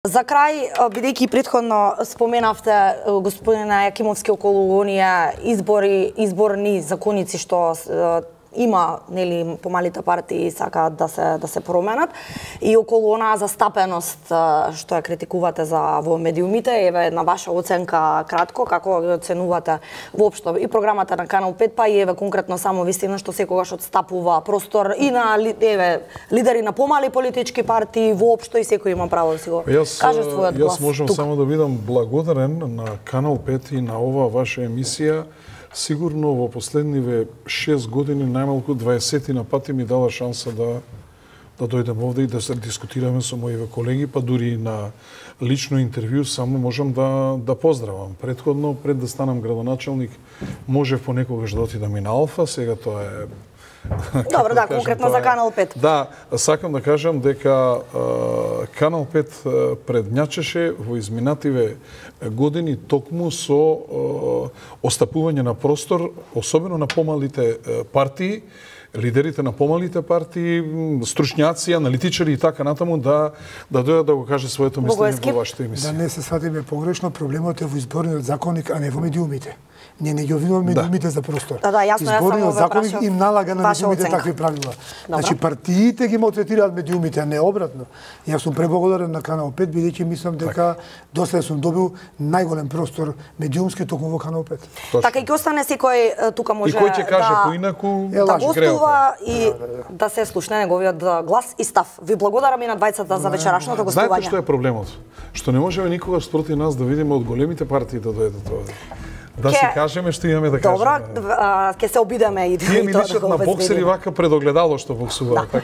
За крај, бидејќи претходно споменавте господина Јакимовски околу оние изборни законици што има, нели, помалите партии сакаат да се променат и околу онаа застапеност што ја критикувате во медиумите, еве на ваша оценка кратко како ја оценувате воопшто и програмата на Канал 5, па и еве конкретно само вистина што секогаш отстапува простор и на лидери на помали политички партии воопшто и секој има право да си го каже својот глас. Јас можам само да бидам благодарен на Канал 5 и на оваа ваша емисија. Сигурно во последниве 6 години најмалку 20 на пати ми дала шанса да дојдем овде и да се дискутираме со моите колеги, па дури и на лично интервју само можам да поздравам. Претходно, пред да станам градоначелник, можев понекогаш да отидам и на Алфа, сега тоа е... Добро, да, конкретно за Канал 5. Да, сакам да кажам дека Канал 5 предњачеше во изминативе години токму со остапување на простор, особено на помалите партии, лидерите на помалите партии, стручњаци, аналитичари и така натаму да дојдат да го каже своето мислење во вашата емисија. Да не се сватиме погрешно, проблемот е во изборниот законник, а не во медиумите. Ние не ги обвинуваме медиумите за простор. Да, јасно, изборниот законник им налага на медиумите такви правила. Значи партиите ги малтретираат медиумите, а не обратно. Јас сум преблагодарен на Канал 5, бидејќи мислам дека дослед сум добил најголем простор медиумски токму во Канал 5. Така и ќе остане секој тука може и кој ќе каже поинаку да гостува и да се слушне неговиот глас и став. Ви благодарам и на двајцата за вечерашното гостување. Знаете што е проблемот? Што не можеме никогаш спроти нас да видиме од големите партии да дојдат овде. Да си кажеме што имаме да кажеме. Добро, ќе се обидеме и тие ми личат на боксери вака пред огледало што боксуваат.